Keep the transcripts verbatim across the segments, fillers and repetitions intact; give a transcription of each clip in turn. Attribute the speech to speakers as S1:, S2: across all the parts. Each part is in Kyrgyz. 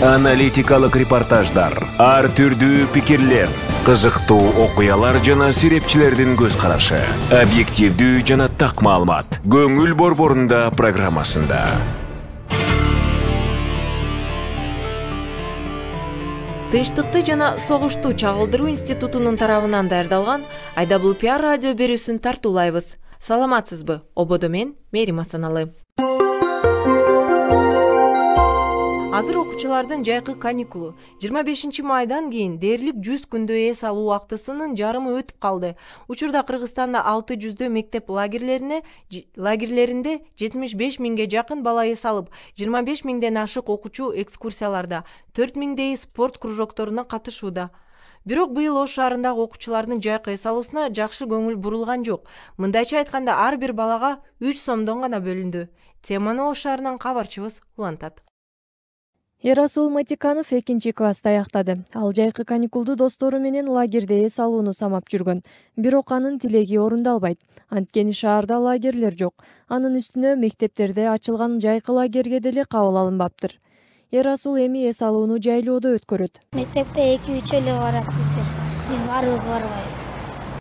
S1: Аналитикалык репортаждар, ар түрдүү пикирлер, кызыктуу окуялар жана серепчилердин көз карашы, объективдүү жана так маалымат. Көңүл борборунда программасында.
S2: Тынчтыкты жана согушту чагылдыруу институтунун тарабынан даярдалган Айдабул пиар радио берүүсүн тартуулайбыз. Саламатсызбы? Ободо мен Мерим Асаналы. Азыр окуучулардын жайкы каникулу жыйырма бешинчи майдан кийин дээрлик жүз күндө эс алуу убактысынын жарымы өтүп калды. Учурда Кыргызстанда алты жүздөө мектеп лагерлерине лагерлеринде жетимиш беш миңге жакын бала эс алып, жыйырма беш миңден ашык окуучу экскурсияларда, төрт миңдей спорт кружокторуна катышууда. Бирок быйыл Ош шаарындагы окуучулардын жайкы эс алуусуна жакшы көңүл бурулган жок. Мындайча айтканда, ар бир балага үч сомдон гана бөлүндү. Теманы Ош шаарынан кабарчыбыз улантат.
S3: Эрасул Матиканов экинчи класста аяктады. Ал жайкы каникулду достору менен лагерде эс алууну самап жүргөн. Бирок анын тилеги орундалбайт. Анткени шаарда лагерлер жок. Анын үстүнө мектептерде ачылган жайкы лагерге деле кабыл алынбаптыр. Эрасул эми эс алууну жайлоодо өткөрөт.
S4: Мектепте эки-үч эле барат биз. Биз барыбыз барбайбыз.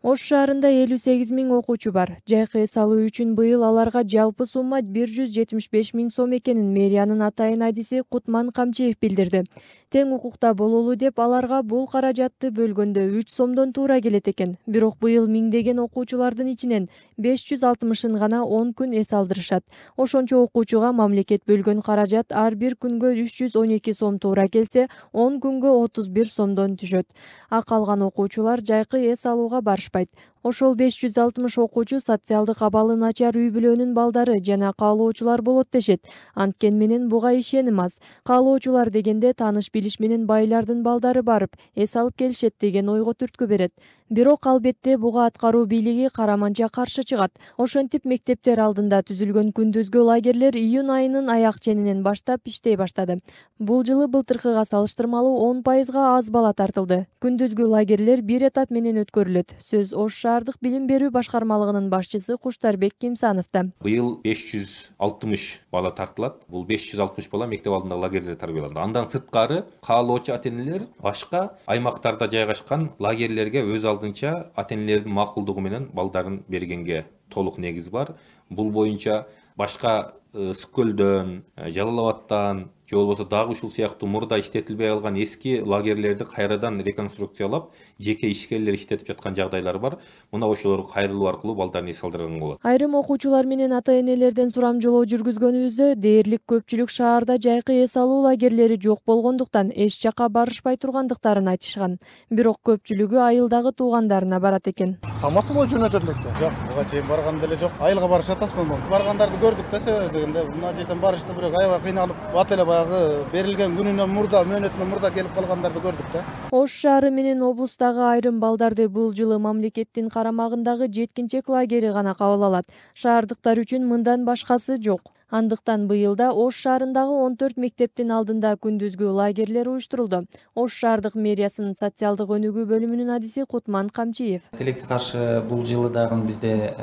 S3: Ош шаарында элүү сегиз миң окуучу бар. Жайкы эс алуу үчүн быйыл аларга жалпы сумма бир жүз жетимиш беш миң сом экенин мэриянын атайын адиси Кутман Камчиев билдирди. Тең укукта бололу деп аларга бул каражатты бөлгөндө үч сомдон туура келет экен. Бирок быйыл миңдеген окуучулардын ичинен беш жүз алтымышын гана он күн эс алдырышат. Ошончо окуучуга мамлекет бөлгөн каражат ар бир күнгө үч жүз он эки сом туура келсе, он күнгө отуз бир сомдон түшөт. А калган окуучулар жайкы эс алууга барышпайт. Ошол беш жүз алтымыш окуучу социалдык абалы начар үй бүлөнүн балдары жана каалоочулар болот дешет. Анткен менен буга ишеним аз. Каалоочулар дегенде тааныш билиш менен байлардын балдары барып эс алып келишет деген ойго түрткү берет. Бирок албетте буга аткаруу бийлиги караманча каршы чыгат. Ошентип мектептер алдында түзүлгөн күндүзгү лагерлер июнь айынын аяк ченинен баштап иштей баштады. Бул жылы былтыркыга салыштырмалуу он пайызга аз бала тартылды. Күндүзгү лагерлер бир этап менен өткөрүлөт. Сөз Ош шаардык билим берүү башкармалыгынын башчысы Куштарбек Кимсановдо.
S5: Быйыл беш жүз алтымыш бала тартылат. Бул беш жүз алтымыш бала мектеп алдындагы лагерлерде тарбияланды. Андан сырткары каалоочу ата-энелер башка аймактарда жайгашкан лагерлерге өз алдынча ата-энелердин макулдугу менен балдарын бергенге толук негиз бар. Бул боюнча башка Сүккөлдөн, Жалал Абадтан, же болбосо дагы ушул сыяктуу мурда иштетилбей калган эски лагерлерди кайрадан реконструкциялап, жеке ишкерлер иштетип жаткан жагдайлар бар. Мына ошолорго кайрылуу аркылуу балдарын эс алдырган болот.
S3: Айрым окуучулар менен ата-энелерден сурамжылоо жүргүзгөнүбүздө дээрлик көпчүлүк шаарда жайкы эс алуу лагерлери жок болгондуктан эч жака барышпай тургандыктарын айтышкан. Бирок көпчүлүгү айылдагы туугандарына барат экен.
S6: Хамасы болуп жөнөтөт электе. Жок, буга чейин барган деле жок. Айылга барышат аслында. Баргандарды көрдүк да себеби дегенде, мына жерден барышты, бирок аябай кыйналып, бат эле баягы берилген күнүнөн мурда, мөөнөтүнөн мурда келип калгандарды көрдүк да.
S3: Ош шаары менен облустагы айрым балдарды бул жылы мамлекеттин карамагындагы жеткинчек лагери гана кабыл алат. Шаардыктар үчүн мындан башкасы жок. Андыктан быйылда Ош шаарындагы он төрт мектептин алдында күндүзгү лагерлер уюштурулду. Ош шаардык мэриясынын социалдык өнүгүү бөлүмүнүн адиси Кутман Камчиев.
S7: Тилекке каршы бул жылы дагы бизде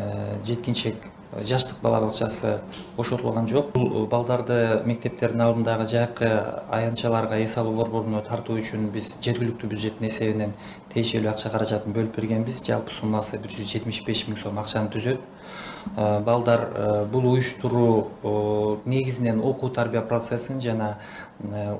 S7: жеткинчек жаштык бала бакчасы бошотулган жок. Бул балдарды мектептердин алдындагы жайкы аянтчаларга эс алуу борборуна тартуу үчүн биз жергиликтүү бюджеттин эсебинен тиешелүү акча каражатын бөлүп бергенбиз. Жалпы суммасы бир жүз жетимиш беш миң сом акчаны түзөт. Балдар бул уюштуруу негизинен окуу тарбия процессин жана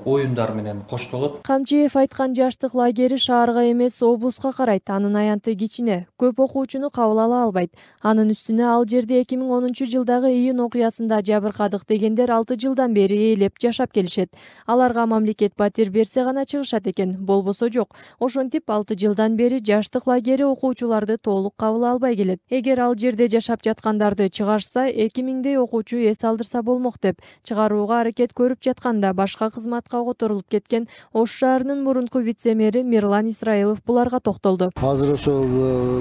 S7: оюндар менен коштолот.
S3: Камчиев айткан жаштык лагери шаарга эмес, облуска карайт. Анын аянты кичине, көп окуучуну кабыл ала албайт. Анын үстүнө ал жерде эки миң онунчу жылдагы июнь окуясында жабыркадык дегендер алты жылдан бери ээлеп жашап келишет. Аларга мамлекет батир берсе гана чыгышат экен, болбосо жок. Ошентип алты жылдан бери жаштык лагери окуучуларды толук кабыл албай келет. Эгер ал жерде жашап жаткандарды чыгарса, эки миңдей окуучу эс алдырса болмок деп чыгарууга аракет көрүп жатканда башка кызматка которулуп кеткен Ош шаарынын мурунку вице-мэри Мирлан Исраилов буларга токтолду.
S8: Азыр ошол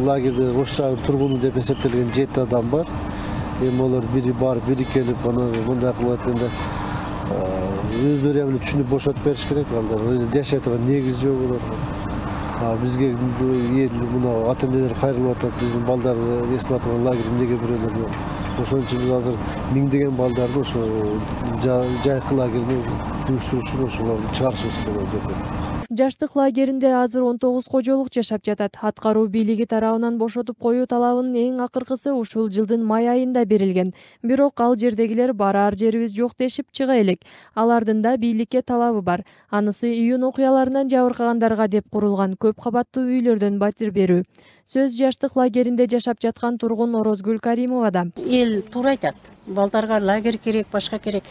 S8: лагерде Ош шаарынын тургуну деп эсептелген жети адам бар. Эми олар бири барып, бири келип, аны мындай кылып айтканда өздөрү эми түшүнүп бошотуп бериш керек. Алар жашай турган негиз жок олар. Бизге мына ата-энелер кайрылып атат, биздин балдар эс алып турган лагерь эмнеге бирөөлөр ошон үчүн биз азыр миңдеген балдарды ошо жайкы лагерге уюштуруу үчүн ошолорду чыгарышыбыз керек.
S3: Жаштык лагеринде азыр он тогуз кожолук жашап жатат. Аткаруу бийлиги тарабынан бошотуп коюу талабынын эң акыркысы ушул жылдын май айында берилген. Бирок ал жердегилер бараар жерибиз жок дешип чыга элек. Алардын да бийликке талабы бар. Анысы июнь окуяларынан жабыркагандарга деп курулган көп кабаттуу үйлөрдөн батир берүү. Сөз жаштык лагеринде жашап жаткан тургун Орозгүл Каримовада.
S9: Эл туура айтат. Балдарга лагерь керек, башка керек,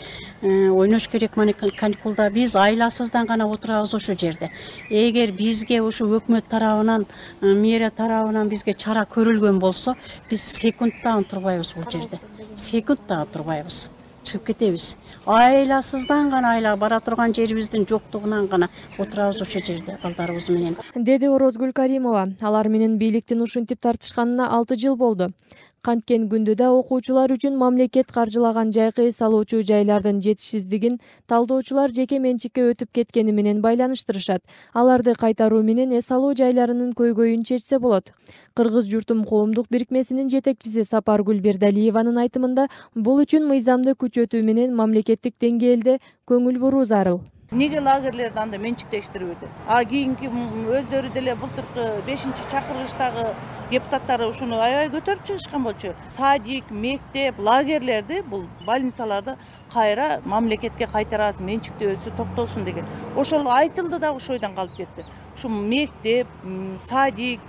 S9: ойнош керек. Мана каникулда биз айласыздан гана отурабыз ошол жерде. Эгер бизге ушу өкмөт тарабынан, мэрия тарабынан бизге чара көрүлгөн болсо, биз секунд дагы турбайбыз бул жерде. Секунд дагы турбайбыз. Чыгып кетебиз. Айласыздан гана айла бара турган жерибиздин жоктугунан гана отурабыз ошол жерде балдарыбыз менен.
S3: Деди Орозгүл Каримова. Алар менен бийликтин ушинтип тартышканына алты жыл болду. Канткен күндө да окуучулар үчүн мамлекет каржылаган жайкы эс алуучу жайлардын жетишсиздигин талдоочулар жеке менчикке өтүп кеткени менен байланыштырышат. Аларды кайтаруу менен эс алуу жайларынын көйгөйүн чечсе болот. Кыргыз журтум коомдук бирикмесинин жетекчиси Сапаргүл Бердалиеванын айтымында бул үчүн мыйзамды күчөтүү менен мамлекеттик деңгээлде көңүл буруу зарыл.
S10: Неге лагерлерди анда менчиктештирбейт? А кийинки өздөрү деле былтыркы бешинчи чакырылыштагы депутаттары ушуну аябай көтөрүп чыгышкан болчу. Садик, мектеп, лагерлерди, бул больницаларды кайра мамлекетке кайтарабыз, менчиктөөсү токтосун деген. Ошол айтылды да ошол ойдон калып кетти. Ушу мектеп, садик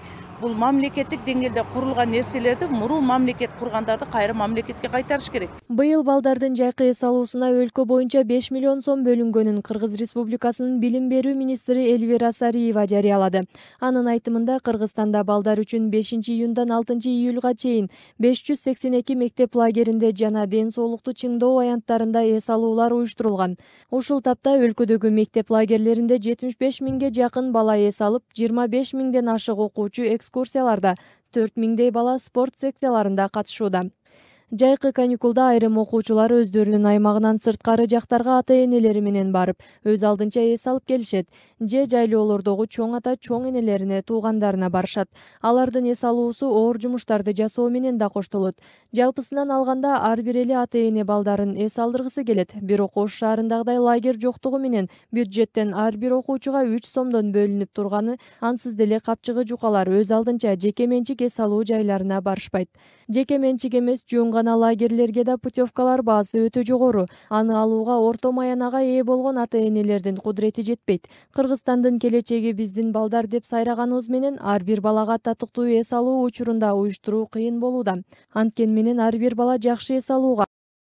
S10: бул мамлекеттик деңгээлде курулган нерселерди мурун мамлекет кургандарды кайра мамлекетке кайтарыш керек.
S3: Быйыл балдардын жайкы эс алуусуна өлкө боюнча беш миллион сом бөлүнгөнүн Кыргыз Республикасынын билим берүү министри Элвира Сариева жарыялады. Анын айтымында Кыргызстанда балдар үчүн бешинчи июндан алтынчы июлга чейин беш жүз сексен эки мектеп лагеринде жана ден соолукту чыңдоо аянттарында эс алуулар уюштурулган. Ушул тапта өлкөдөгү мектеп лагерлеринде жетимиш беш миңге жакын бала эс алып, жыйырма беш миңден ашык окуучу экскурсияларда, төрт миңдей бала спорт секцияларында катышууда. Жайкы каникулда айрым окуучулар өздөрүнүн аймагынан сырткары жактарга ата-энелери менен барып, өз алдынча эс алып келишет. Же жайлоолордогу чоң ата, чоң энелерине, туугандарына барышат. Алардын эс алуусу оор жумуштарды жасоо менен да коштолот. Жалпысынан алганда ар бир эле ата-эне балдарын эс алдыргысы келет. Бирок Ош шаарындагыдай лагерь жоктугу менен бюджеттен ар бир окуучуга үч сомдон бөлүнүп турганы ансыз деле капчыгы жукалар өз алдынча жеке менчик эс алуу жайларына барышпайт. Жеке менчик эмес, жөн гана лагерлерге да путевкалар баасы өтө жогору. Аны алууга орто маянага ээ болгон ата-энелердин кудурети жетпейт. Кыргызстандын келечеги биздин балдар деп сайраганыбыз менен ар бир балага татыктуу эс алуу учурунда уюштуруу кыйын болууда. Анткени менен ар бир бала жакшы эс алууга